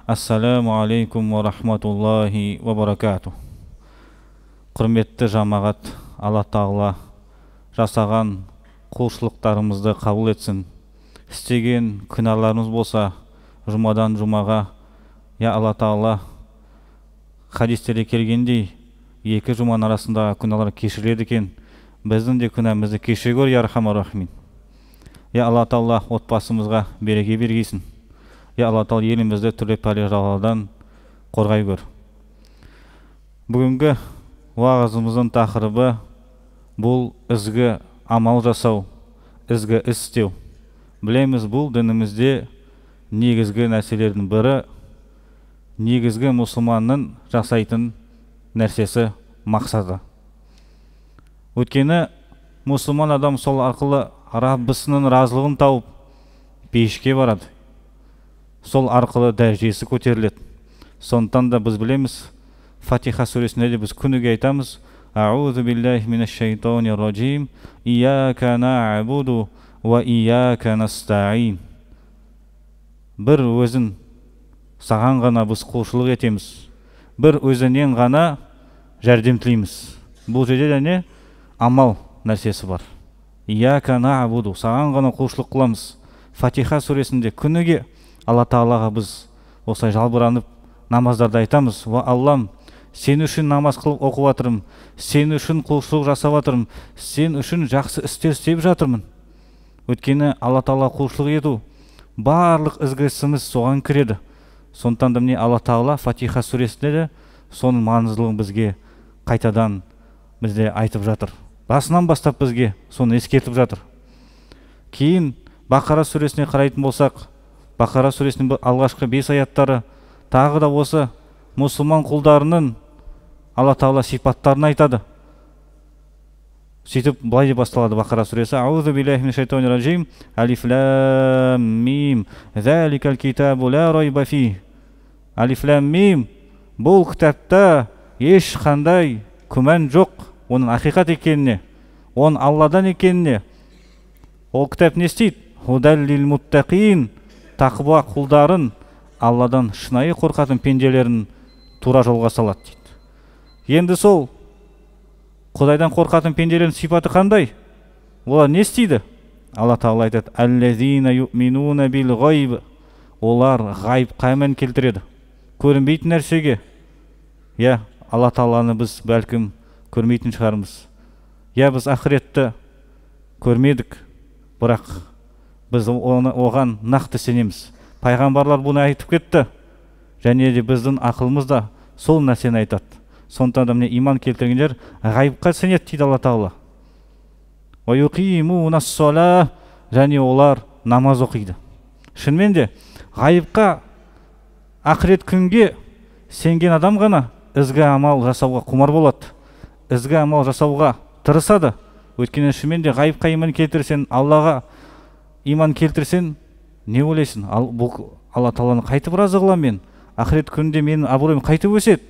Ассаламу алейкум ва рахматуллахи ва баракату. Құрметті жамағат, Алла Тағала жасаған құлшылықтарымызды қабыл етсін. Істеген күнәларымыз болса, жұмадан жұмаға, я Алла Тағала хадистерде келгендей, екі жұманың арасында күнәлар кешіреді екен. Біздің де күнәмізді кешіре көр, я Архамар Рахимин. Я Алла Тағала отбасымызға береке бергейсін. Я Алла Тағала елімізді түрлі пәле-жаладан қорғай көр. Бүгінгі уағызымыздың тақырыбы бұл ізгі амал жасау, ізгі іс істеу. Білеміз, бұл дінімізде негізгі нәрселердің бірі, негізгі мұсылманның жасайтын нәрсесі мақсаты. Өйткені мұсылман адам сол арқылы Раббысының разылығын тауып пейішке барады. Сол арқылы дәрежесі көтеріледі. Сондықтан да біз білеміз, Фатиха сүресінде де біз күніге айтамыз: Аузу биллахи минаш шайтанир раджим, ияка нa'буду ва ияка настаин. Бір өзін саған ғана біз құлшылық етеміз, бір өзінен ғана жәрдем тілейміз. Бұл жерде де не амал нәрсесі бар. Ияка нa'буду, саған ғана құлшылық қыламыз. Фатиха сүресінде күніге Алла Тағалаға біз осылай жалбыранып намаздарды айтамыз: Ва Аллам, сен үшін намаз қылып оқып жатырмын, сен үшін құлшылық жасап жатырмын, сен үшін жақсы істер істеп жатырмын. Өйткені Алла Тағала құлшылық ету, барлық ізгі ісіміз соған кіреді. Сондықтан да міне Алла Тағала Фатиха сүресінде де соның маңыздылығын бізге қайтадан бізде айтып жатыр. Басынан бастап бізге соны ескертіп жатыр. Кейін Бақара сүресіне қарайтын болсақ, Бақара сүресінің алғашқы 5 аяттары тағы да осы мұсылман құлдарының Алла Тағала сипаттарын айтады. Сөйтіп былай деп басталады Бақара сүресі: Аузу биллахи минаш шайтанир раджим, алиф лам мим, заликал китабу ла райба фи. Алиф лам мим, бұл кітапта ешқандай күмән жоқ, оның ақиқат екеніне, оның Алладан екеніне. Ол кітап не істейді? Худал лил муттақин, тақуа құлдарын, Алладан шынайы қорқатын пенделерін тура жолға салады дейді. Енді сол Құдайдан қорқатын пенделердің сипаты қандай? Олар не істейді? Алла Тағала айтады: Аллазина юминуна бил ғайб. Олар ғайбқа иман келтіреді, көрінбейтін нәрсеге. Я Алла Тағаланы біз бәлкім көрмейтін шығармыз. Я біз ақыретті көрмедік, бірақ біз оған нақты сенеміз. Пайғамбарлар бұны айтып кетті, және де біздің ақылымыз да сол нәрсені айтады. Сондықтан да міне иман келтіргендер ғайыпқа сенеді дейді Алла Тағала. Ва юқимунас сола, және олар намаз оқиды. Шынымен де ғайыпқа, ақырет күнге сенген адам ғана ізгі амал жасауға құмар болады, ізгі амал жасауға тырысады. Өйткені шынымен де ғайыпқа иман келтірсең, Аллаға иман келтірсең, не ойлайсың? Бұл Алла Тағаланы қайтып разы қыламын мен, ақырет күнде менің абыройым қайтып өседі,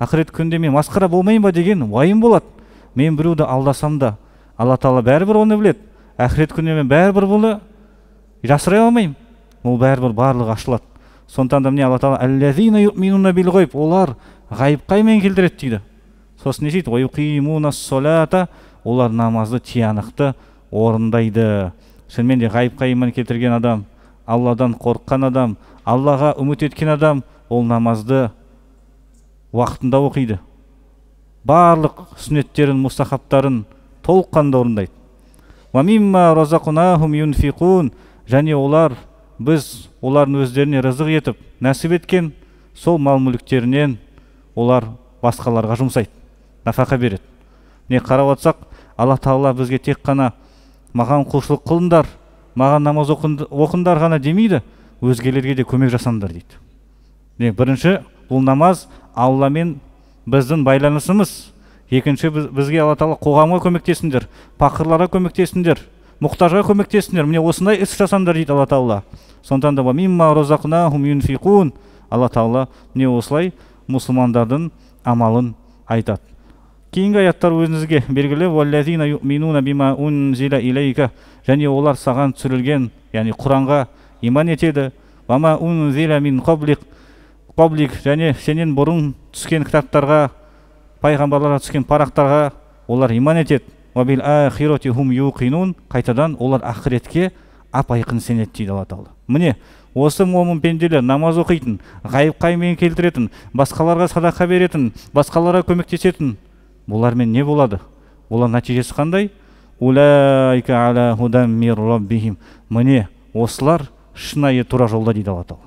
ақырет күнде мен масқара болмайын ба деген уайым болады. Мен біреуді алдасам да Алла Тағала бәрібір оны біледі. Ақырет күнде мен бәрібір бұны жасырай алмаймын. Ол бәрібір барлығы ашылады. Сондықтан да міне Алла Тағала аллазина юминуна бил ғайб, олар ғайыпқа иман келтіреді дейді. Сосын не дейді? Ва юқимунас солата, олар намазды тиянақты орындайды. Шынымен де ғайыпқа иман келтірген адам, Алладан қорыққан адам, Аллаға үміт еткен адам, ол намазды уақытында оқиды. Барлық сүннеттерін, мұстахабтарын толыққанда орындайды. Ва мимма разақнахум юнфиқун, және олар, біз олардың өздеріне рызық етіп, нәсіп еткен сол мал-мүліктерінен олар басқаларға жұмсайды, нафақа береді. Не қарап отырсақ, Алла Тағала бізге тек қана маған құлшылық қылыңдар, маған намаз оқыңдар ғана демейді, өзгелерге де көмек жасаңдар дейді. Бірінші, бұл намаз Алламен біздің байланысымыз. Екінші, бізге Алла Тағала қоғамға көмектесіңдер, пақырларға көмектесіңдер, мұқтажға көмектесіңдер. Міне осындай іс жасаңдар дейді Алла Тағала. Сондықтан да мимма разақнахум юнфиқун, Алла Тағала міне осылай мұсылмандардың амалын айтады. Кейінгі аяттар өзіңізге белгілі: валлазина юминуна бима унзила илейка, және олар саған түсірілген, яғни Құранға иман етеді. Вама унзила мин қаблик, каблик және сенен бұрын түскен кітаптарға, пайғамбарларға түскен парақтарға олар иман етеді. Вабил ахирати хум юқинун, қайтадан олар ақыретке ап-айқын сенеді дейді Алла Тағала. Міне осы момын пенделер намаз оқитын, ғайып қаймен келтіретін, басқаларға садақа беретін, басқаларға көмектесетін, бұлармен не болады? Олар нәтижесі қандай? Улайка аля худан мир раббихим. Міне осылар шынайы тура жолда дейді Алла Тағала.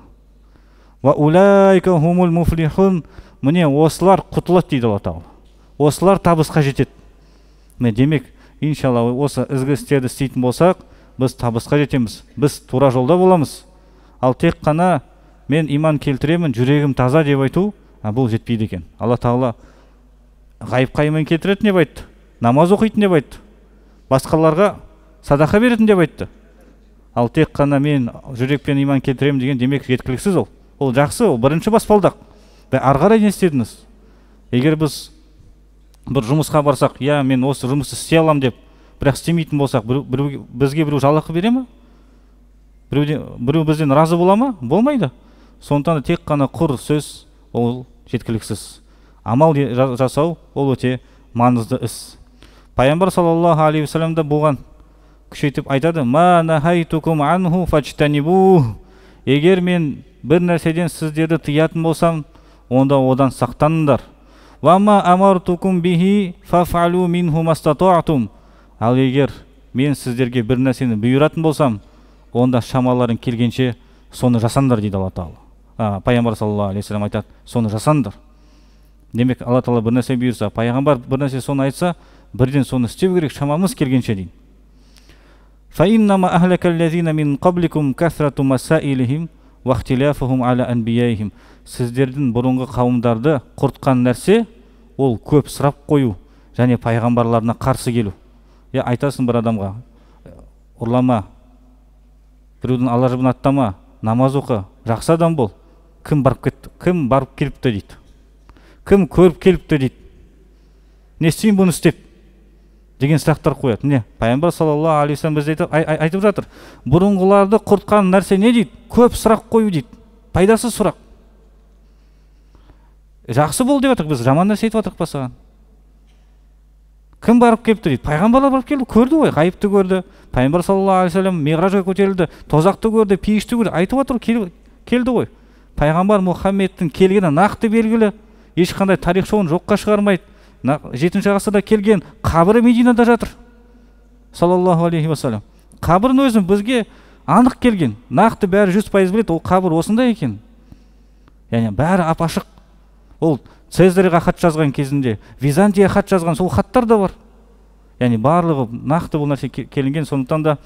Ва улайка хумул муфлихун. Міне осылар құтылады дейді Алла Тағала. Осылар табысқа жетеді. Міне демек, иншалла осы ізгі істерді істейтін болсақ, біз табысқа жетеміз, біз тура жолда боламыз. Ал тек қана мен иман келтіремін, жүрегім таза деп айту, бұл жетпейді екен. Алла Тағала ғайып қаймен келтіретін деп айтты, намаз оқитын деп айтты, басқаларға садақа беретін деп айтты. Ал тек қана мен жүрекпен иман келтіремін деген демек жеткіліксіз ол. Ол жақсы, ол бірінші баспалдақ. Ары қарай не істедіңіз? Егер біз бір жұмысқа барсақ, я мен осы жұмысты істей аламын деп, бірақ істемейтін болсақ, бізге біреу жалақы бере ме? Біреу бізден разы бола ма? Болмайды. Сондықтан тек қана құр сөз ол жеткіліксіз. Амал жасау ол өте маңызды іс. Пайғамбар саллаллаху алейхи вассалам да болған күшейтіп айтады: "Ма нахайтукум анху фажтанибу." Егер мен бір нәрседен сіздерді тыятын болсам, онда одан сақтаныңдар. "Ва ма амартукум бихи фафалу минху мастатуатум." Ал егер мен сіздерге бір нәрсені бұйыратын болсам, онда шамаларың келгенше соны жасаңдар дейді Алла Тағала. Пайғамбар саллаллаху алейхи вассалам айтады: соны жасаңдар. Демек, Алла Тағала бір нәрсе бұйырса, пайғамбар бір нәрсе соны айтса, бірден соны істеу керек, шамамыз келгенше дейді. فَإِنَّمَا أَهْلَكَ الَّذِينَ مِنْ قَبْلِكُمْ كَثْرَةُ مَسَائِلِهِمْ وَاخْتِلَافُهُمْ عَلَى أَنْبِيَائِهِمْ. Сіздердің бұрынғы қауымдарды құртқан нәрсе ол көп сұрап қою және пайғамбарларына қарсы келу. Айтасың бір адамға: ұрлама, біреудің ала жібін аттама, намаз оқы, жақсы адам бол. Кім барып келіпті дейді, кім көріп келіпті дейді, не істейін бұны істеп деген сұрақтар қояды. Не? Пайғамбар саллаллаху алейхи вассалам бізде айтып жатыр, бұрынғыларды құртқан нәрсе не дейді? Көп сұрақ қою дейді, пайдасыз сұрақ. Жақсы бол деп жатырық, біз жаман нәрсе айтып жатырық па саған? Кім барып келіпті дейді? Пайғамбарлар барып келді, көрді ғой, ғайыпты көрді. Пайғамбар саллаллаху алейхи вассалам миғражға көтерілді, тозақты көрді, пейішті көрді, айтып жатыр, келді ғой. Пайғамбар Мұхаммедтің келгені нақты белгілі, ешқандай тарих шоуын жоққа шығармайды. 7-ші ғасырда келген, қабірі Мединада жатыр, саллаллаху алейхи вассалам. Қабірін өзін бізге анық келген, нақты бәрі 100% біледі, ол қабір осындай екен. Яғни бәрі ап-ашық. Ол Цезарьға хат жазған кезінде, Византия хат жазған, сол хаттар да бар. Яғни барлығы нақты бұл нәрсе келінген. Сондықтан да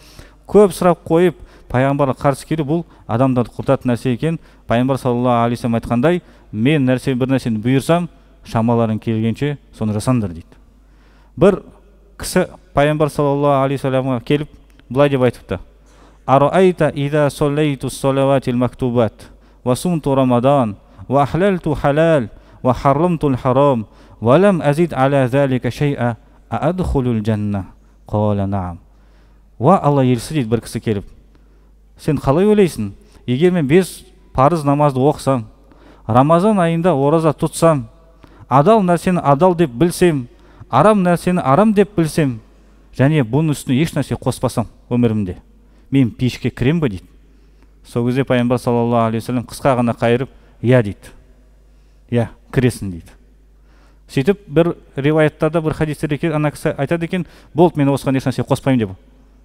көп сұрақ қойып, пайғамбарға қарсы келу бұл адамдарды құртатын нәрсе екен. Пайғамбар саллаллаху алейхи вассалам айтқандай, мен бір нәрсені бұйырсам, шамаларың келгенше соны жасаңдар дейді. Бір кісі пайғамбар саллаллаху алейхи вассаламға келіп былай деп айтыпты: "Араайта иза соллайту салаватил мактубат ва сумту рамадан ва ахлалту халал ва харрамту харам ва лам азид аля залика шай'a аадхулул жанна?" Қала наам. Ва Алла елшісі дейді бір кісі келіп, сен қалай ойлайсың? Егер мен 5 парыз намазды оқысам, Рамазан айында ораза тұтсам, адал нәрсені адал деп білсем, арам нәрсені арам деп білсем, және бұның үстіне еш нәрсе қоспасам өмірімде, мен пешке кірем бе дейді. Сол кезде пайғамбар саллаллаху алейхи вассалам қысқа ғана қайырып, я дейді, я кіресің дейді. Сөйтіп бір риуаяттарда, бір хадистерде ана кісі айтады екен, болды, мен осыған еш нәрсе қоспаймын деп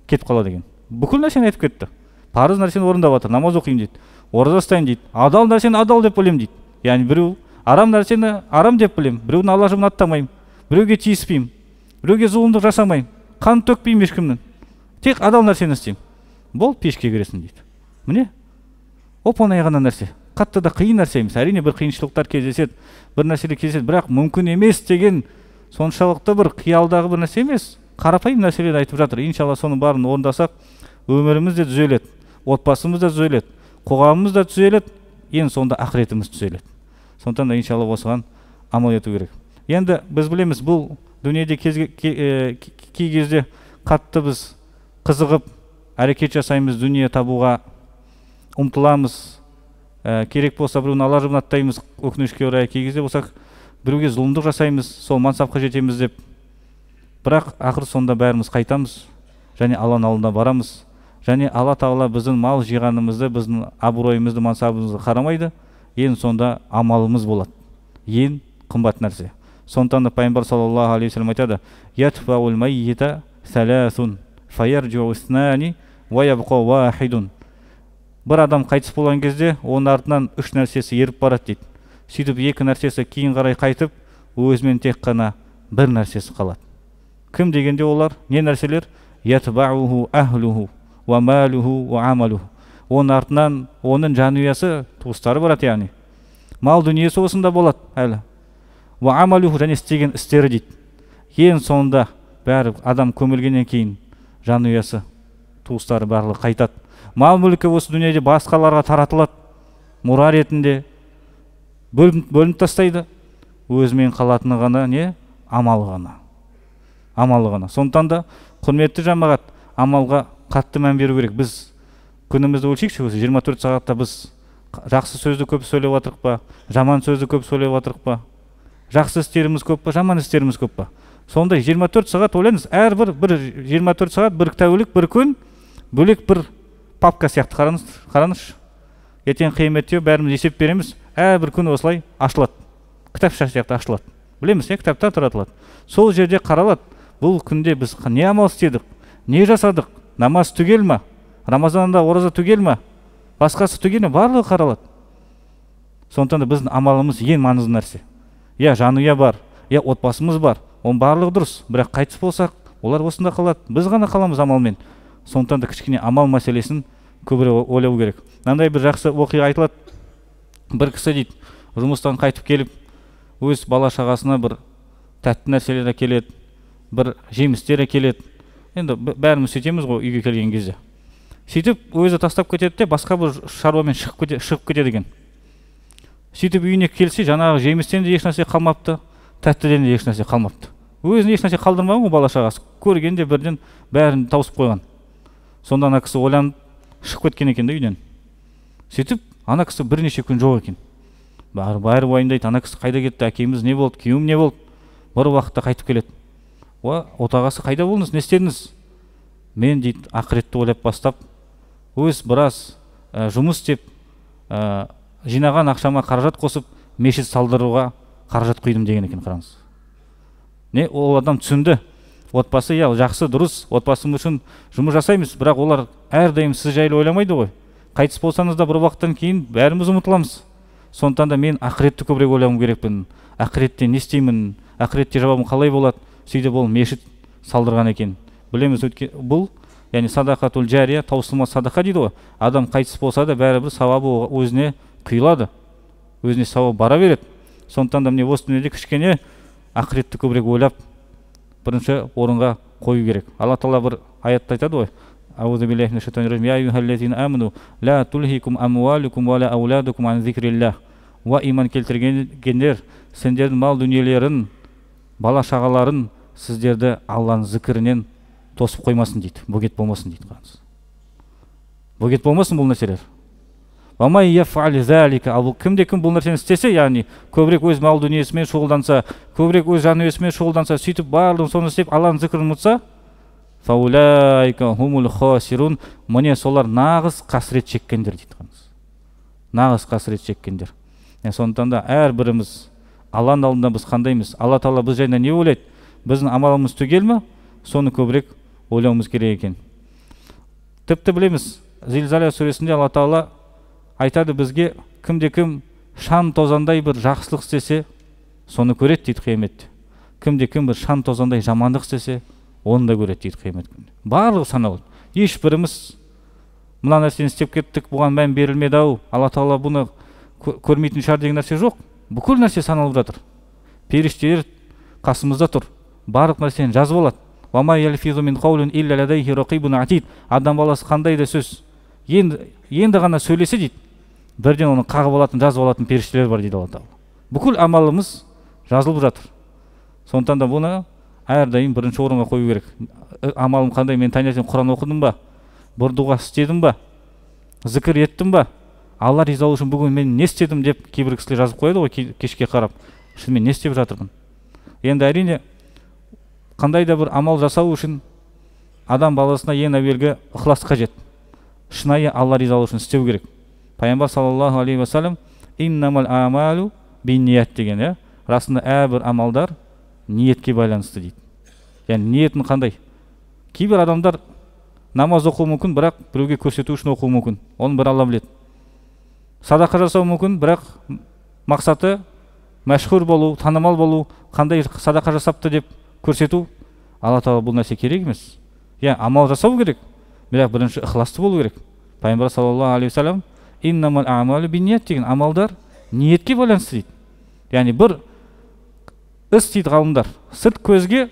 кетіп қалады екен. Бүкіл нәрсені айтып кетті. Парыз нәрсені орындап жатыр, намаз оқимын дейді, ораза ұстаймын дейді, адал нәрсені адал деп білемін дейді. Яғни біреу арам нәрсені арам деп білемін, біреудің ала жібін аттамаймын, біреуге тиіспеймін, біреуге зұлымдық жасамаймын, қан төкпеймін ешкімнің, тек адал нәрсені істеймін. Бол, пешке кіресің дейді. Міне, оп-оңай ғана нәрсе, қатты да қиын нәрсе емес. Әрине бір қиыншылықтар кездеседі, бір нәрселер кездеседі, бірақ мүмкін емес деген соншалықты бір қиялдағы бір нәрсе емес, қарапайым нәрселерді айтып жатыр. Иншалла соның барын орындасақ, өміріміз де түзеледі, отбасымыз да түзеледі, қоғамымыз да түзеледі, ең соңында ақыретіміз түзеледі. Сондықтан да иншалла осыған амал ету керек. Енді біз білеміз, бұл дүниеде кей кезде қатты біз қызығып әрекет жасаймыз, дүние табуға ұмтыламыз, керек болса біреуін ала жібін аттаймыз, өкінішке орай кей кезде болсақ біреуге зұлымдық жасаймыз, сол мансапқа жетеміз деп. Бірақ ақыр сонда бәріміз қайтамыз және Алланың алдына барамыз. Және Алла Тағала біздің мал жиғанымызды, біздің абыройымызды, мансабымызды қарамайды. Ең сонда амалымыз болады. Ең қымбат нәрсе. Сондықтан да пайғамбар саллаллаху алейхи вассалам айтады: "Ятфаул маййита саласун, фаярджу иснаани, ва ябқа вахидун." Бір адам қайтыс болған кезде, оның артынан үш нәрсесі еріп барады дейді. Сөйтіп екі нәрсесі кейін қарай қайтып, өзімен тек қана бір нәрсесі қалады. Кім дегенде олар? Не нәрселер? Ятбауху ахлуху ва малуху ва амалуху. Оның артынан оның жанұясы, туыстары барады, яғни мал дүниесі осында болады әлі. Ва амалуху, және істеген істері дейді. Ең соңында бәрі адам көмілгеннен кейін жанұясы, туыстары барлығы қайтады. Мал мүлкі осы дүниеде басқаларға таратылады, мұра ретінде бөлініп тастайды. Өзімен қалатыны ғана не? Амалы ғана. Амалы ғана. Сондықтан да құрметті жамағат, амалға қатты мән беру керек. Біз күнімізді өлшейікші, осы 24 сағатта біз жақсы сөзді көп сөйлеп отырық па, жаман сөзді көп сөйлеп отырық па, жақсы істеріміз көп па, жаман істеріміз көп па. Сондай 24 сағат ойлаңыз, әрбір 24 сағат, бір тәулік, бір күн бөлек бір папка сияқты қараңызшы. Ертең қияметте бәріміз есеп береміз, әрбір күн осылай ашылады. Кітапша сияқты ашылады. Білеміз, кітаптар таратылады. Сол жерде қаралады, бұл күнде біз не амал істедік, не жасадық, намаз түгел ма, Рамазанда ораза түгел ма, басқасы түгел ме, барлығы қаралады. Сондықтан да біздің амалымыз ең маңызды нәрсе. Жанұя бар, отбасымыз бар, оның барлығы дұрыс, бірақ қайтыс болсақ, олар осында қалады, біз ғана қаламыз амалмен. Сондықтан да кішкене амал мәселесін көбірек ойлау керек. Мынандай бір жақсы оқиға айтылады. Бір кісі дейді, жұмыстан қайтып келіп, өз бала шағасына бір тәтті нәрселер әкеледі, бір жемістер әкеледі. Енді бәріміз сөйтеміз ғой үйге келген кезде. Сөйтіп өзі тастап кетеді де басқа бір шаруамен шығып кетеді екен. Сөйтіп үйіне келсе, жаңағы жемістен де ешнәрсе қалмапты, тәттіден де ешнәрсе қалмапты. Өзіне ешнәрсе қалдырмаған ғой бала шағасы. Көргенде бірден бәрін тауысып қойған. Сонда ана кісі ойланып шығып кеткен екен де үйден. Сөйтіп ана кісі бірнеше күн жоқ екен. Бәрі уайымдайды, ана кісі қайда кетті, әкеміз не болды, күйеуім не болды. Бір уақытта қайтып келеді. Отағасы қайда болдыңыз, не істедіңіз? Мен дейді, ақыретті ойлап бастап, өз біраз жұмыс істеп, жинаған ақшама қаражат қосып, мешіт салдыруға қаражат құйдым деген екен, қараңыз. Ол адам түсінді. Отбасы жақсы, дұрыс, отбасым үшін жұмыс жасаймыз, бірақ олар әрдайым сіз жайлы ойламайды ғой. Қайтыс болсаңыз да бір уақыттан кейін бәріміз ұмытыламыз. Сондықтан да мен ақыретті көбірек ойлауым керекпін. Ақыретте не істеймін, ақыретте жауабым қалай болады? Сөйтіп ол мешіт салдырған екен. Білеміз, бұл яғни садақатул жария, таусылмас садақа дейді ғой. Адам қайтыс болса да бәрібір сауабы өзіне құйылады, өзіне сауап бара береді. Сондықтан да міне осы дүниеде кішкене ақыретті көбірек ойлап бірінші орынға қою керек. Алла Тағала бір аятта айтады ғой: Аузу биллахи минаш шайтанир раджим. Я аyyuhallazina аману ла тулхикум амвалукум ва ла ауладукум ан зикриллах. Ва иман келтіргендер, сендердің мал дүниелерін, бала шағаларын сіздерді Алланың зікірінен тосып қоймасын дейді. Бөгет болмасын дейді, қараңыз. Бөгет болмасын бұл нәрселер. Ва май яфъал залика. Ал кім бұл нәрсені істесе, яғни көбірек өз мал дүниесімен шұғылданса, көбірек өз жанұясымен шұғылданса, сөйтіп барлығын соны істеп Алланың зікірін ұмытса, фаулайка хумул хасирун. Міне солар нағыз қасірет шеккендер дейді, қараңыз. Нағыз қасірет шеккендер. Сондықтан да әрбіріміз Алланың алдында біз қандаймыз? Алла Тағала біз жайында не ойлайды? Біздің амалымыз түгел ме? Соны көбірек ойлауымыз керек екен. Тіпті білеміз, Зилзала сүресінде Алла Тағала айтады бізге, кімде-кім шам тозандай бір жақсылық істесе, соны көреді дейді қияметте. Кімде-кім бір шам тозандай жамандық істесе, оны да көреді дейді қиямет күнінде. Барлығы санаулы. Ешбіріміз мына нәрсені істеп кеттік, бұған мән берілмеді ау, Алла Тағала бұны көрмейтін шығар деген нәрсе жоқ. Бүкіл нәрсе саналып жатыр. Періштелер қасымызда тұр. Барлық нәрсені жазып алады. Ва ма ялфизу мин қаулин илля ладайхи рақибун атид. Адам баласы қандай да сөз енді ғана сөйлесе дейді, бірден оны қағып алатын, жазып алатын періштелер бар дейді Алла Тағала. Бүкіл амалымыз жазылып жатыр. Сондықтан да бұны әрдайым бірінші орынға қою керек. Амалым қандай, мен таңертең Құран оқыдым ба, бір дұға істедім ба, зікір еттім ба, Алла ризалығы үшін бүгін мен не істедім деп кейбір кісілер жазып қояды ғой кешке қарап. Шынымен не істеп жатырмын? Енді әрине қандай да бір амал жасау үшін адам баласына ең әуелгі ықылас қажет. Шынайы Алла ризалығы үшін істеу керек. Пайғамбар саллаллаху алейхи ва саллям иннамал амалу бинният деген, расында әрбір амалдар ниетке байланысты дейді. Яғни ниетін қандай? Кейбір адамдар намаз оқуы мүмкін, бірақ біреуге көрсету үшін оқуы мүмкін. Оны бір Алла біледі. Садақа жасау мүмкін, бірақ мақсаты мәшһүр болу, танымал болу, қандай садақа жасапты деп көрсету. Алла тағала бұл нәрсе керек емес. Амал жасау керек, бірақ бірінші ықыласты болу керек. Пайғамбар саллаллаху алейхи ва саллям иннамал амалу бинният деген амалдар ниетке байланысты дейді. Яғни бір іс дейді ғалымдар, сырт көзге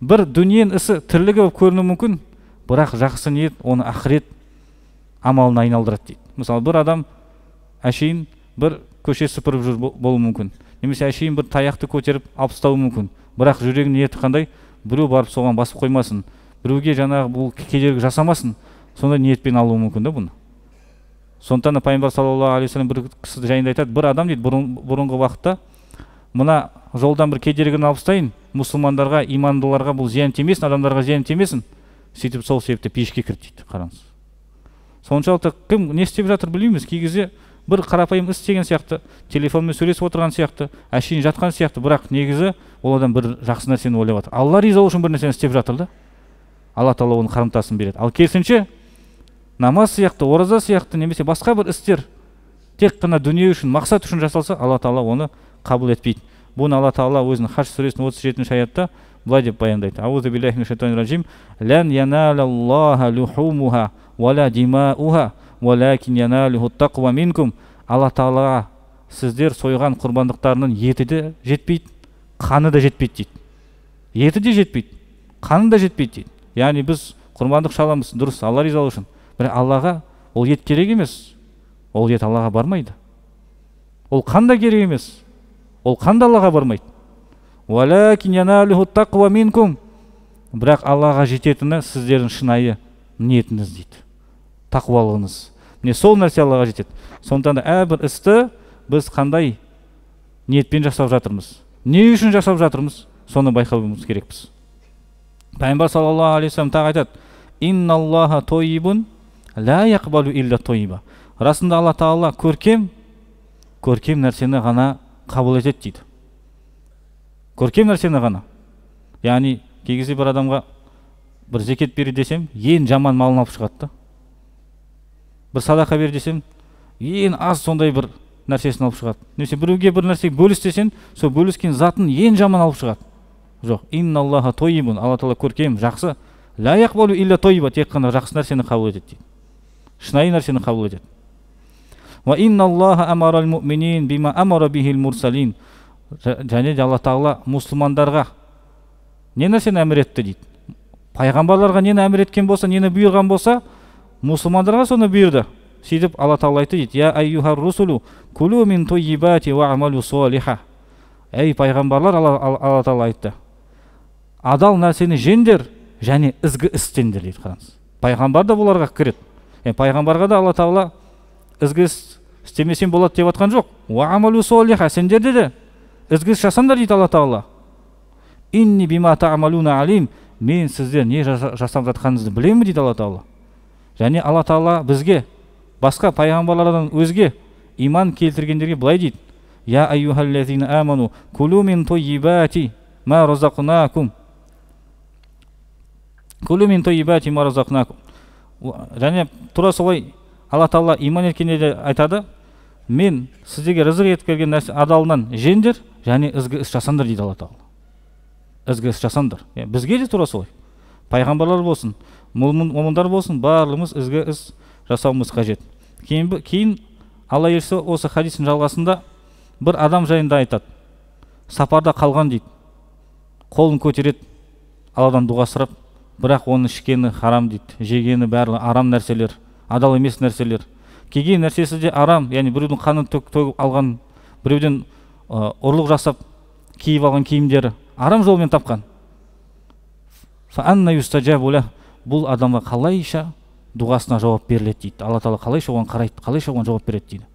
бір дүниенің ісі тірлігі болып көрінуі мүмкін, бірақ жақсы ниет оны ақырет амалына айналдырады дейді. Мысалы, бір адам әшейін бір көше сыпырып жүр болуы мүмкін, немесе әшейін бір таяқты көтеріп алып тастауы мүмкін, бірақ жүрегінің ниеті қандай? Біреу барып соған басып қоймасын, біреуге жаңағы бұл кедергі жасамасын, сондай ниетпен алуы мүмкін да бұны. Сондықтан пайғамбар саллаллаху алейхи ва саллям бір кісі жайында айтады, бір адам дейді бұрынғы уақытта мына жолдан бір кедергіні алып тастайын, мұсылмандарға, имандыларға бұл зиян тимесін, адамдарға зиян тимесін, сөйтіп сол себепті пешке кірді дейді. Қараңыз. Соншалықты кім не істеп жатыр білмейміз. Кей кезде бір қарапайым іс істеген сияқты, телефонмен сөйлесіп отырған сияқты, әшейін жатқан сияқты, бірақ негізі ол адам бір жақсы нәрсені ойлап жатыр. Алла ризалығы үшін бір нәрсені істеп жатыр да. Алла тағала оның қарымтасын береді. Ал керісінше намаз сияқты, ораза сияқты, немесе басқа бір істер тек қана дүние үшін, мақсат үшін жасалса, Алла тағала оны қабыл етпейді. Бұны Алла тағала өзінің Хаж сүресінің 37-ші аятта былай деп баяндайды. Аузу биллахи минаш шайтанир ражим. Лан яналаллаха лухумуха вала димауха валакин яналуху тақва минкум. Алла тағалаға сіздер сойған құрбандықтарының еті де жетпейді, қаны да жетпейді дейді. Еті де жетпейді, қаны да жетпейді дейді. Яғни біз құрбандық шаламыз, дұрыс, Алла ризалығы үшін. Бірақ Аллаға ол ет керек емес. Ол ет Аллаға бармайды. Ол қан да керек емес. Ол қан да Аллаға бармайды. Валакин яналуху тақва минкум. Бірақ Аллаға жететіні сіздердің шынайы ниетіңіз дейді. Тақуалығыңыз. Міне сол нәрсе Аллаға жетеді. Сондықтан да әрбір істі біз қандай ниетпен жасап жатырмыз, не үшін жасап жатырмыз, соны байқауымыз керекпіз. Пайғамбар саллаллаху алейхи ва саллям тағы айтады: инналлаха тойибун ла яқбалу илля тойиба. Расында Алла тағала көркем нәрсені ғана қабыл етеді дейді. Көркем нәрсені ғана. Яғни кей кезде бір адамға бір зекет бер десем, ең жаман малын алып шығады да. Бір садақа бер десем, ең аз сондай бір нәрсесін алып шығады. Немесе біреуге бір нәрсе бөліс десең, сол бөліскен затын ең жаман алып шығады. Жоқ, инналлаха тойибун, Алла тағала көркем, жақсы. Ла яқбалу илля тойиба, тек қана жақсы нәрсені қабыл етеді дейді. Шынайы нәрсені қабыл етеді. Ва инналлаха амарал муъминин бима амара бихил мурсалин. Және де Алла тағала мұсылмандарға не нәрсені әмір етті дейді. Пайғамбарларға нені әмір еткен болса, нені бұйырған болса, мұсылмандарға соны бұйырды. Сөйтіп Алла тағала айтты дейді: я айюхар русулу кулу мин тойибати ва амалу солиха. Ей пайғамбарлар, Алла тағала айтты, адал нәрсені жеңдер және ізгі істеңдер дейді. Қараңыз, пайғамбар да бұларға кіреді. Пайғамбарға да Алла тағала ізгі істемесен болады деп жатқан жоқ. Ва амалу солиха, сендерде де ізгі іс жасаңдар дейді Алла тағала. Инни бима та'малуна алим, мен сіздер не жасап жатқаныңызды білемін дейді Алла тағала. Және Алла тағала бізге басқа пайғамбарлардан өзге иман келтіргендерге былай дейді: я айюхаллазина аману кулу мин тойибати ма разақнакум. Кулу мин тойибати ма разақнакум. Және тура солай Алла тағала иман еткенде айтады: мен сіздерге рызық етіп келген нәрсе адалынан жеңдер және ізгі іс жасаңдар дейді Алла тағала. Ізгі іс жасаңдар. Бізге де тура солай. Пайғамбарлар болсын, момындар болсын, барлығымыз ізгі іс жасауымыз қажет. Кейін Алла елшісі осы хадистің жалғасында бір адам жайында айтады. Сапарда қалған дейді. Қолын көтереді, Алладан дұға сұрап, бірақ оның ішкені харам дейді. Жегені барлығы арам нәрселер, адал емес нәрселер. Кеген нәрсесі де арам, яғни біреудің қанын төгіп алған, біреуден ұрлық жасап киіп алған киімдері арам жолмен тапқан. Фаанна юстаджабу лах. Бұл адамға қалайша дұғасына жауап беріледі дейді. Алла тағала қалайша оған қарайды, қалайша оған жауап береді дейді.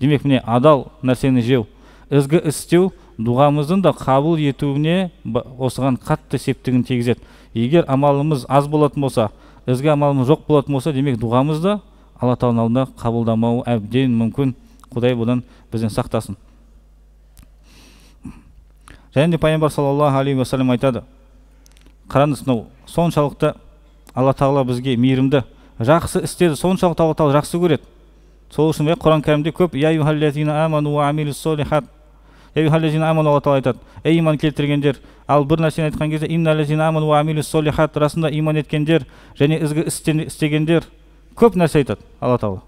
Демек міне адал нәрсені жеу, ізгі істеу дұғамыздың да қабыл етуіне осыған қатты септігін тигізеді. Егер амалымыз аз болатын болса, ізгі амалымыз жоқ болатын болса, демек дұғамыз да Алла тағаланың алдында қабылдамауы әбден мүмкін. Құдай бұдан бізден сақтасын. Және де пайғамбар саллаллаху алейхи ва саллям айтады, қараңыз, соншалықты Алла тағала бізге мейірімді, жақсы істеді соншалықты Алла тағала жақсы көреді. Сол үшін Құран кәрімде көп я юхаллазина аману ва амилус солихат, я юхаллазина аману, Алла тағала айтады, ей иман келтіргендер. Ал бір нәрсені айтқан кезде инналлазина аману ва амилус солихат, расында иман еткендер және ізгі істегендер. Көп нәрсе айтады Алла тағала.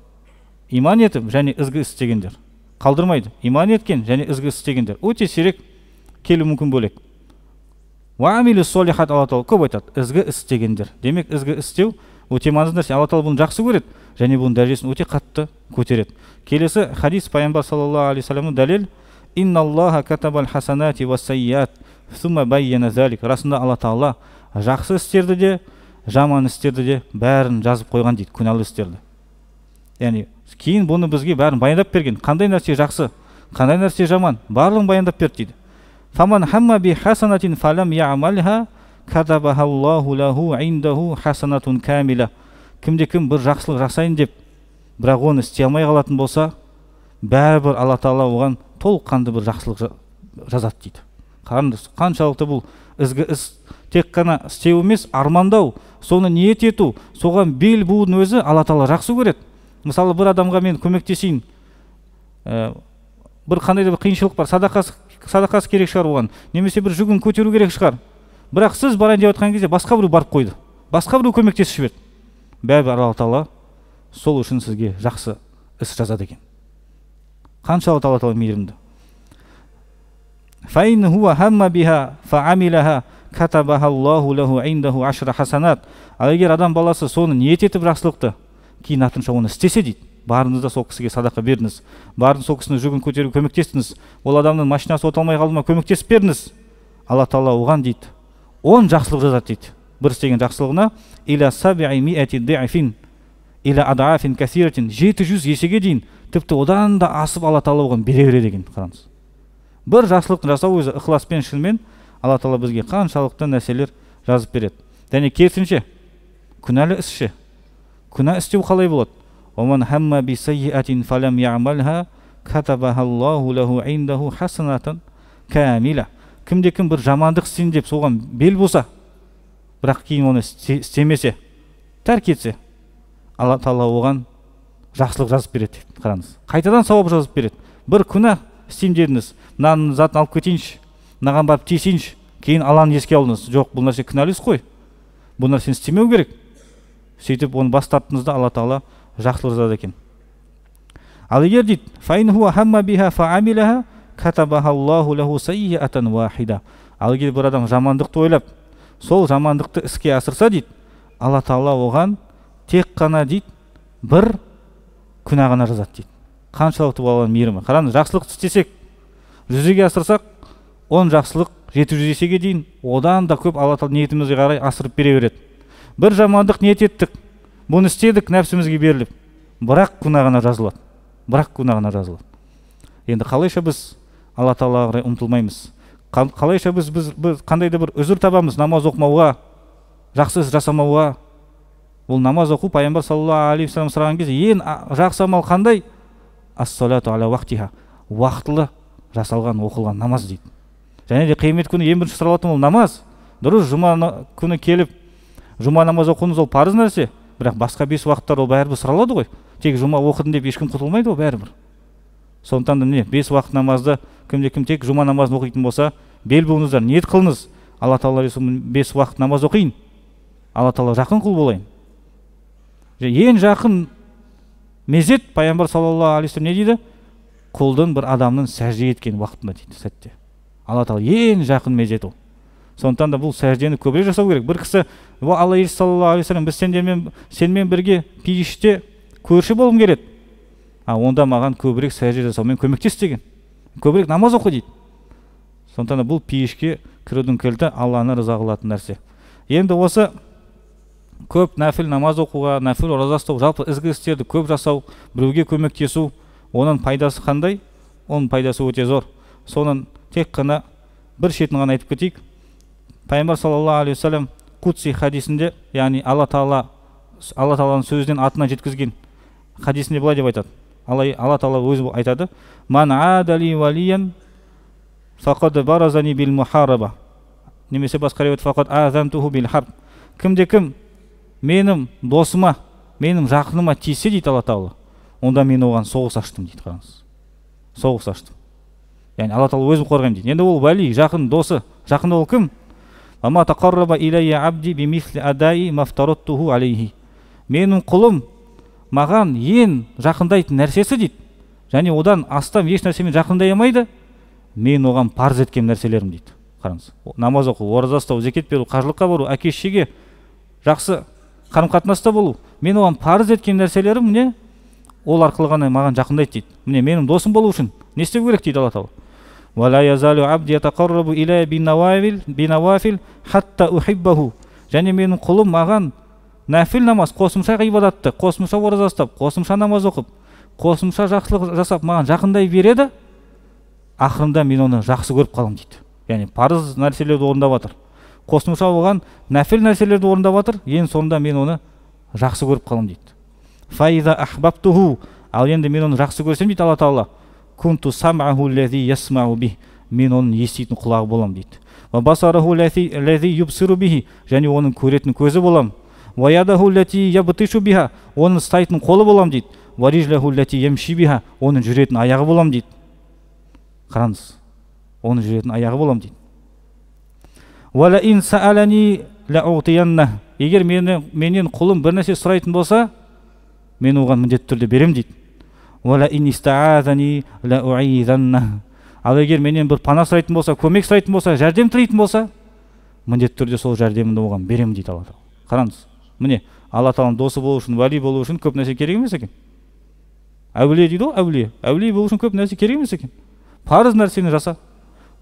Иман етіп және ізгі істегендер қалдырмайды. Иман еткен және ізгі істегендер өте сирек келу мүмкін бөлек. Ва амилус солихат, Алла тағала көп айтады, ізгі істегендер. Демек ізгі істеу өте маңызды нәрсе. Алла тағала бұны жақсы көреді және бұның дәрежесін өте қатты көтереді. Келесі хадис пайғамбар саллаллаху алейхи вассаламның дәлел: инналлаха катабал хасанати ва сайят сумма байяна залик. Расында Алла тағала жақсы істерді де жаман істерді де бәрін жазып қойған дейді, күнәлі істерді. Яғни кейін бұны бізге бәрін баяндап берген. Қандай нәрсе жақсы, қандай нәрсе жаман, барлығын баяндап берді дейді. Фаман хамма би хасанатин фалам я'малха катабахаллаху лаху индаху хасанатун камила. Кімде-кім бір жақсылық жасайын деп, бірақ оны істей алмай қалатын болса, бәрібір Алла тағала оған толыққанды бір жақсылық жазады дейді. Қараңыз, қаншалықты бұл ізгі іс тек қана істеу емес, армандау, соны ниет ету, соған бел буудың өзі Алла тағала жақсы көреді. Мысалы, бір адамға мен көмектесейін, бір қандай да бір қиыншылық бар, садақасы керек шығар оған, немесе бір жүгін көтеру керек шығар. Бірақ сіз барайын деп отқан кезде басқа біреу барып қойды, басқа біреу көмектесіп жіберді. Бәрібір Алла тағала сол үшін сізге жақсы іс жазады екен. Қаншалықты Алла тағала мейірімді. Фаин хуа хамма биха фаамилаха катабахаллаху лаху индаху ашра хасанат. Ал егер адам баласы соны ниет етіп жақсылықты, кейін артынша оны істесе дейді, барыңызда сол кісіге садақа беріңіз, барыңыз сол кісінің жүгін көтеруге көмектестіңіз, ол адамның машинасы оталмай қалды ма, көмектесіп беріңіз, Алла тағала оған дейді 10 жақсылық жазады дейді. Бір істеген жақсылығына иля саби'i ми'ати ди'фин иля адафин касиратин, 700 есеге дейін, тіпті одан да асып Алла тағала оған бере береді екен. Қараңыз, бір жақсылықты жасау өзі ықыласпен, шынымен Алла тағала бізге қаншалықты нәрселер жазып береді. Және керісінше күнәлі ісші, күнә істеу қалай болады? Оман хамма би сайyi'атин фалам я'малха катабахаллаху лаху индаху хасанатан камила. Кімде-кім бір жамандық істейін деп соған бел болса, бірақ кейін оны істемесе, тәрк етсе, Алла тағала оған жақсылық жазып береді. Қараңыз, қайтадан сауап жазып береді. Бір күнә істейін дедіңіз, мынаның затын алып кетейінші, мынаған барып тиісейінші, кейін Алланы еске алдыңыз, жоқ, бұл нәрсе күнәлі іс қой, бұл нәрсені істемеу керек. Сөйтіп оны бас тарттыңызда Алла тағала жақсылық жазады екен. Ал егер дейді фаин хуа хамма биха фаамилаха катабахаллаху лаху сайyi'атан вахида. Ал егер бір адам жамандықты ойлап, сол жамандықты іске асырса дейді, Алла тағала оған тек қана дейді бір күнә ғана жазады дейді. Қаншалықты Алланың мейірімі. Қараңыз, жақсылық істесек, жүзеге асырсақ, 10 жақсылық 700 есеге дейін, одан да көп Алла тағала ниетімізге қарай асырып бере береді. Бір жамандық ниет еттік, бұны істедік, нәпсімізге беріліп, бірақ күнә ғана жазылады. Бірақ күнә ғана жазылады. Енді қалайша біз Алла тағалаға қарай ұмтылмаймыз? Қалайша біз қандай да бір үзір табамыз намаз оқымауға, жақсы іс жасамауға? Бұл намаз оқу, пайғамбар саллаллаху алейхи вассалам сұраған кезде ең жақсы амал қандай? Ас-салату аля уақтиха, уақытылы жасалған, оқылған намаз дейді. Және де қиямет күні ең бірінші сұралатын ол намаз. Дұрыс, жұма күні келіп, жұма намаз оқуыңыз ол парыз нәрсе, бірақ басқа 5 уақыттар ол бәрібір сұралады ғой. Тек жұма оқыдым деп ешкім құтылмайды ғой бәрібір. Сондықтан да міне 5 уақыт намазды кімде-кім тек жұма намазын оқитын болса, бел буыңыздар, ниет қылыңыз. Алла тағала 5 уақыт намаз оқиын, Алла тағала жақын құл болайын. Ең жақын мезет пайғамбар саллаллаху алейхи вассалам не дейді? Құлдың бір адамның сәжде еткен уақытында дейді, сәтте. Алла тағала ең жақын мезет ол. Сондықтан да бұл сәждені көбірек жасау керек. Бір кісі, Алла елшісі саллаллаху алейхи вассалам, біз сенімен бірге пейіште көрші болғым келеді. Онда маған көбірек сәжде жасаумен көмектес деген. Көбірек намаз оқы дейді. Сондықтан да бұл пейішке кірудің кілті Алланы риза қылатын нәрсе. Енді осы көп нәпіл намаз оқуға, нәпіл ораза ұстау, жалпы ізгі істерді көп жасау, біреуге көмектесу, оның пайдасы қандай? Оның пайдасы өте зор. Соның тек қана бір шетін ғана айтып кетейік. Пайғамбар саллаллаху алейхи вассалам Кудси хадисінде, яғни Алла Тағаланың сөзінен атына жеткізген хадисінде былай деп айтады. Алла Тағала өзі айтады: "Ман адали валиян фақад баразани бил мухараба." Немесе басқа риуаят фақад азантуху бил харб. Кімде-кім менің досыма, менің жақыныма тисе дейді Алла Тағала, онда мен оған соғыс аштым дейді. Қараңыз. Соғыс аштым. Яғни Алла Тағала өзім қорғаймын дейді. Енді ол вали, жақын досы. Жақын ол кім? Ама тақарраба илайя абди бимисли адай мафтараттуху алейхи. Менің құлым маған ең жақындайтын нәрсесі дейді. Және одан астам еш нәрсемен жақындай алмайды. Мен оған парыз еткен нәрселерім дейді. Қараңыз. Намаз оқу, ораза ұстау, зекет беру, қажылыққа бару, әке-шешеге жақсы қарым-қатынаста болу. Мен оған парыз еткен нәрселерім міне ол арқылы ғана маған жақындайды дейді. Міне менің досым болу үшін не істеу керек дейді Алла Тағала. Вала язалу абди ятақаррабу илайя бинавафил хатта ухиббаху. Және менің құлым маған нәфіл намаз, қосымша ғибадатты, қосымша ораза ұстап, қосымша намаз оқып, қосымша жақсылық жасап маған жақындай береді. Ақырында мен оны жақсы көріп қаламын дейді. Яғни парыз нәрселерді орындап жатыр. Қосымша оған нәфіл нәрселерді орындап жатыр. Ең соңында мен оны жақсы көріп қаламын дейді. Фаиза ахбабтуху. Ал енді мен оны жақсы көрсем дейді Алла Тағала, кунту сам'аху лази ясмау бих. Мен оның еститін құлағы боламын дейді. Ва басараху лази юбсиру бихи. Және оның көретін көзі боламын. Ва ядаху лати ябтишу биха. Оның ұстайтын қолы боламын дейді. Ва rijлаху лати ямши биха. Оның жүретін аяғы боламын дейді. Қараңыз. Оның жүретін аяғы боламын дейді. Ва ла ин саалани лаутиянна. Егер менен құлым бір нәрсе сұрайтын болса, мен оған міндетті түрде берем дейді. Ва ла ин истаазани лауизанна. Ал егер менен бір пана сұрайтын болса, көмек сұрайтын болса, жәрдем тілейтін болса, міндетті түрде сол жәрдемімді оған берем дейді Алла Тағала. Қараңыз. Міне Алла Тағаланың досы болу үшін, вали болу үшін көп нәрсе керек емес екен. Әулие дейді ғой, әулие. Әулие болу үшін көп нәрсе керек емес екен. Парыз нәрсені жаса.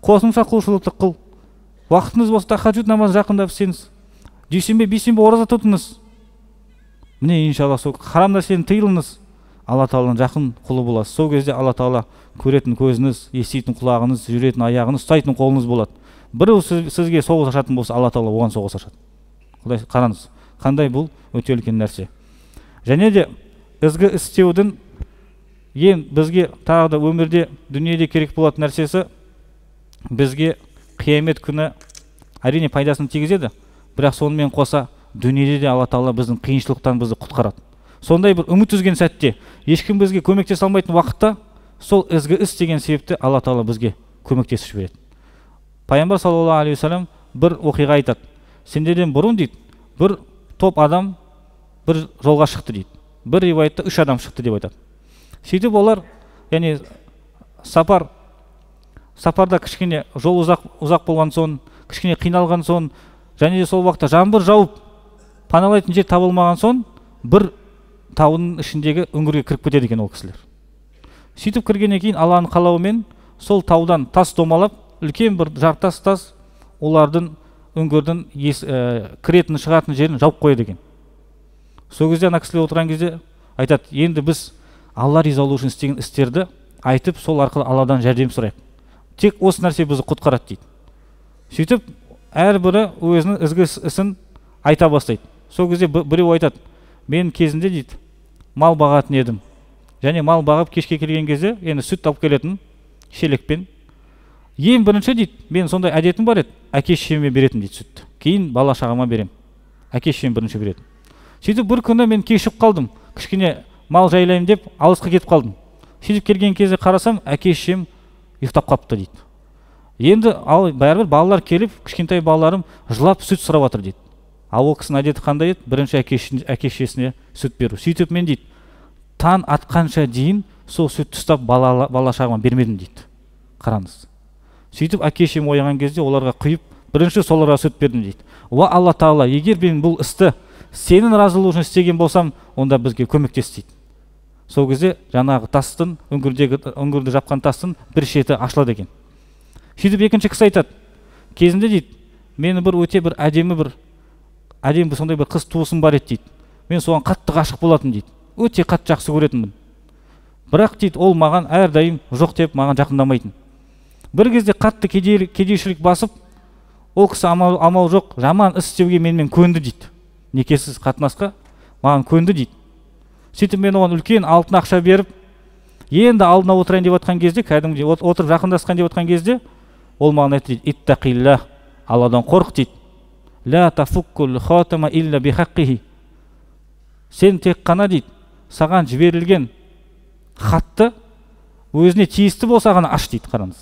Қосымша құлшылықты қыл. Уақытыңыз болса тахаджуд намаз жақындап істеңіз. Дүйсенбе, бейсенбе ораза тұтыңыз. Міне иншалла сол харам нәрсені тыйылыңыз. Алла Тағаланың жақын құлы боласыз. Сол кезде Алла Тағала көретін көзіңіз, еститін құлағыңыз, жүретін аяғыңыз, ұстайтын қолыңыз болады. Біреу сізге соғыс ашатын болса, Алла Тағала оған соғыс ашады. Құдай қараңыз, қандай бұл өте үлкен нәрсе. Және де ізгі істеудің ең бізге тағы да өмірде, дүниеде керек болатын нәрсесі, бізге қиямет күні әрине пайдасын тигізеді, бірақ сонымен қоса дүниеде де Алла Тағала біздің қиыншылықтан бізді құтқарады. Сондай бір үміт үзген сәтте, ешкім бізге көмектесе алмайтын уақытта, сол ізгі іс деген себепті Алла Тағала бізге көмектесіп жібереді. Пайғамбар саллаллаху алейхи вассалам бір оқиға айтады. Сендерден бұрын дейді, бір топ адам бір жолға шықты дейді. Бір риуаятта 3 адам шықты деп айтады. Сөйтіп олар, яғни сапарда кішкене жол ұзақ болған соң, кішкене қиналған соң, және де сол уақытта жаңбыр жауып паналайтын жер табылмаған соң, бір таудың ішіндегі үңгірге кіріп кетеді екен ол кісілер. Сөйтіп кіргеннен кейін Алланың қалауымен сол таудан тас домалап, үлкен бір жартас тас олардың үңгірдің кіретін шығатын жерін жауып қояды екен. Сол кезде ана кісілер отырған кезде айтады, енді біз Алла ризалығы үшін істеген істерді айтып, сол арқылы Алладан жәрдем сұрайық. Тек осы нәрсе бізді құтқарады дейді. Сөйтіп әрбірі өзінің ізгі ісін айта бастайды. Сол кезде біреу айтады, мен кезінде дейді, мал бағатын едім. Және мал бағып кешке келген кезде, енді сүт алып келетін шелекпен. Ең бірінші дейді, мен сондай әдетім бар еді, әке-шешеме беретін дейді сүтті. Кейін бала шағама берем. Әке-шешем бірінші беретін. Сөйтіп бір күні мен кешіп қалдым. Кішкене мал жайлайым деп алысқа кетіп қалдым. Сөйтіп келген кезде қарасам, әке-шешем ұйықтап қапты дейді. Енді бәрібір балалар келіп, кішкентай балаларым жылап сүт сұрап жатыр дейді. Ал ол кісінің әдеті қандай еді? Бірінші әке-шешесіне сүт беру. Сөйтіп мен дейді, таң атқанша дейін сол сүтті ұстап бала шағама бермедім дейді. Қараңыз. Сөйтіп әке-шешем оянған кезде оларға құйып, бірінші соларға сүт бердім дейді. Уа Алла Тағала, егер мен бұл істі сенің разылығың үшін істеген болсам, онда бізге көмектес дейді. Сол кезде жаңағы тастың, үңгірді жапқан тастың бір шеті ашылады екен. Сөйтіп екінші кісі айтады, кезінде дейді, мені бір өте бір әдемі бір әдемі сондай бір қыз туысым бар еді дейді. Мен соған қатты ғашық болатын дейді. Өте қатты жақсы көретінмін. Бірақ дейді, ол маған әрдайым жоқ деп маған жақындамайтын. Бір кезде қатты кедейшілік басып, ол кісі амал жоқ, жаман іс істеуге менімен көнді дейді. Некесіз қатынасқа маған көнді дейді. Сөйтіп мен оған үлкен алтын ақша беріп, енді алдына отырайын деп отқан кезде, кәдімгідей отырып жақындасқан деп отқан кезде, ол маған айтты дейді, иттақилла, Алладан қорқ дейді. Ла тафуккул хатама илля бихаққихи. Сен тек қана дейді, саған жіберілген хатты өзіне тиісті болса ғана аш дейді. Қараңыз.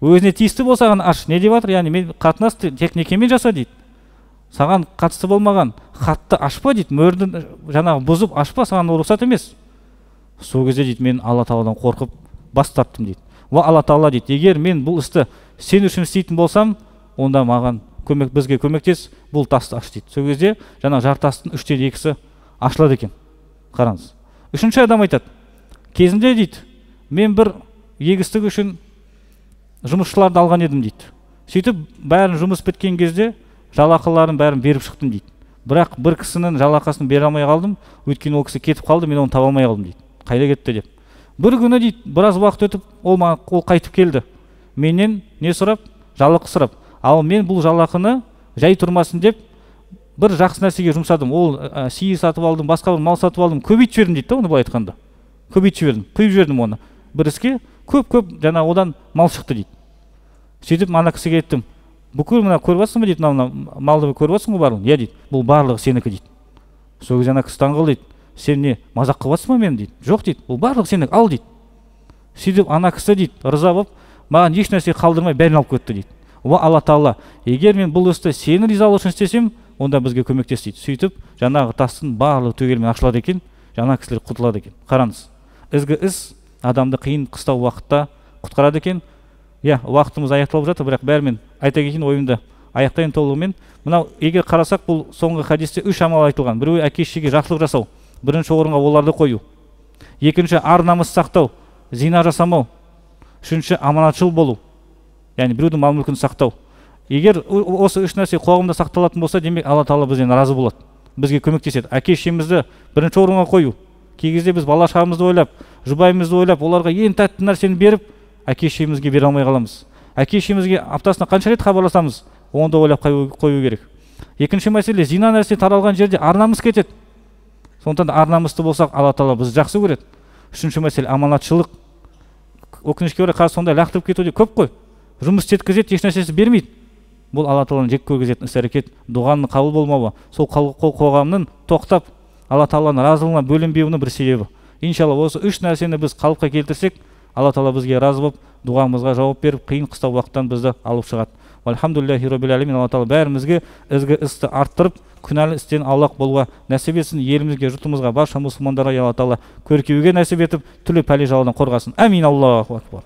Өзіне тиісті болса ғана аш. Не деп жатыр? Яғни мен қатынасты тек некемен жаса дейді. Саған қатысты болмаған хатты ашпа дейді. Мөрді жаңағы бұзып ашпа, саған рұқсат емес. Сол кезде дейді, мен Алла Тағаладан қорқып бас тарттым дейді. Ва Алла Тағала дейді, егер мен бұл істі сен үшін істейтін болсам, онда маған бізге көмектес, бұл тасты аш дейді. Сол кезде жаңағы жартастың 3/2-сі ашылады екен. Қараңыз. Үшінші адам айтады, кезінде дейді, мен бір егістік үшін жұмысшыларды алған едім дейді. Сөйтіп бәрін жұмыс біткен кезде жалақыларын бәрін беріп шықтым дейді. Бірақ бір кісінің жалақасын бере алмай қалдым, өйткені ол кісі кетіп қалды, мен оны таба алмай қалдым дейді. Қайда кетті деп. Бір күні дейді, біраз уақыт өтіп, ол қайтып келді. Менен не сұрап? Жалақы сұрап. Ал мен бұл жалақыны жай тұрмасын деп бір жақсы нәрсеге жұмсадым. Ол сиыр сатып алдым, басқа бір мал сатып алдым, көбейтіп жібердім дейді, оны былай айтқанда. Көбейтіп жібердім, құйып жібердім оны. Бір іске көп жаңа одан мал шықты дейді. Сөйтіп ана кісіге айттым, бүкіл мына көріп жатсың ба дейді, мына малды көріп жатсың ғой барлығын? Иә дейді, бұл барлығы сенікі дейді. Сол кезде ана кісі таңғалды дейді, сен не мазақ қылып жатсың ба мені дейді. Жоқ дейді, бұл барлығы сенікі, ал дейді. Сөйтіп ана кісі дейді, риза болып, маған еш нәрсе қалдырмай бәрін алып кетті дейді. Ва Алла Тағала, егер мен бұл істі сені ризалығы үшін істесем, онда бізге көмектес дейді. Сөйтіп жаңағы тастың барлығы түгелімен ашылады екен, жаңа кісілер құтылады екен. Қараңыз, ізгі іс адамды қиын қыстау уақытта құтқарады екен. Иә, уақытымыз аяқталып жатыр, бірақ бәрімен айта кетейін, ойымды аяқтайын толығымен. Мынау егер қарасақ, бұл соңғы хадисте 3 амал айтылған. Біреуі әке-шешеге жақсылық жасау, бірінші орынға оларды қою. Екінші ар намыс сақтау, зина жасамау. Үшінші аманатшыл болу. Яғни біреудің мал-мүлкін сақтау. Егер осы 3 нәрсе қоғамда сақталатын болса, демек Алла Тағала бізден разы болады. Бізге көмектеседі. Әке-шешемізді бірінші орынға қою. Кей кезде біз бала-шағамызды ойлап, жұбайымызды ойлап, оларға ең тәтті нәрсені беріп, әке-шешемізге бере алмай қаламыз. Әке-шешемізге аптасына қанша рет хабарласамыз, оны да ойлап қою керек. Екінші мәселе, зина нәрсе таралған жерде ар намыс кетеді. Сондықтан да ар намысты болсақ, Алла Тағала бізді жақсы көреді. Үшінші мәселе, аманатшылық. Өкінішке орай қазір сондай лақтырып кетуде көп қой. Жұмыс істеткізеді, еш нәрсесі бермейді. Бұл Алла Тағаланың жек көргізетін іс-әрекет, дұғаның қабыл болмауы, сол қоғамның тоқтап Алла Тағаланың разылығына бөлінбеуінің бір себебі. Иншалла осы 3 нәрсені біз қалыпқа келтірсек, Алла Тағала бізге разы болып, дұғамызға жауап беріп, қиын қыстау уақыттан бізді алып шығады. Альхамдулиллахи роббил алемин. Алла Тағала бәрімізге ізгі істі арттырып, күнәлі істен аулақ болуға нәсіп етсін. Елімізге, жұртымызға, барша мұсылмандарға Алла Тағала көркеуге нәсіп етіп, түрлі пәле жаладан қорғасын. Амин. Аллаху акбар.